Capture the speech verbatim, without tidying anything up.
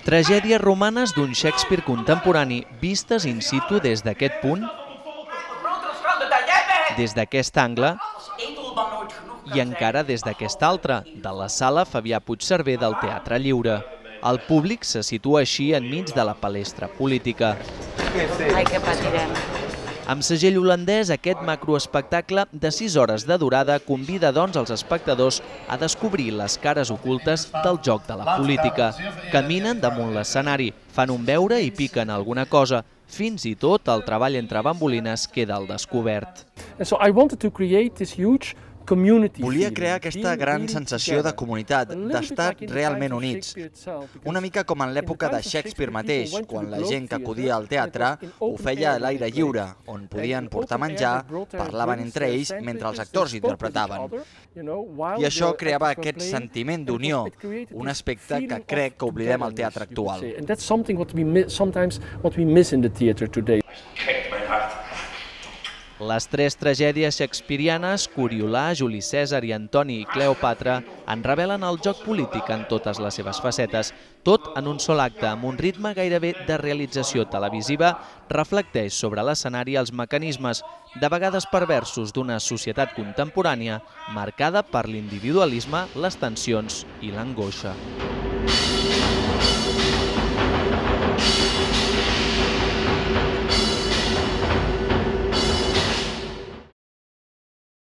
Tragèdies romanes d'un Shakespeare contemporani vistes in situ des d'aquest punt, des d'aquest angle i encara des d'aquest altre, de la sala Fabià Puigcerver del Teatre Lliure. El públic se situa així enmig de la palestra política. Ai, que patirem. Amb segell holandès, aquest macroespectacle de sis hores de durada convida doncs els espectadors a descobrir les cares ocultes del joc de la política. Caminen damunt l'escenari, fan un veure i piquen alguna cosa. Fins i tot el treball entre bambolines queda al descobert. Volia crear aquesta gran sensació de comunitat, d'estar realment units. Una mica com en l'època de Shakespeare mateix, quan la gent que acudia al teatre ho feia a l'aire lliure, on podien portar menjar, parlaven entre ells mentre els actors interpretaven. I això creava aquest sentiment d'unió, un aspecte que crec que oblidem al teatre actual. Les tres tragèdies shakespearianes, Coriolà, Juli Cèsar i Antoni i Cleòpatra, en revelen el joc polític en totes les seves facetes. Tot en un sol acte, amb un ritme gairebé de realització televisiva, reflecteix sobre l'escenari els mecanismes, de vegades perversos, d'una societat contemporània marcada per l'individualisme, les tensions i l'angoixa.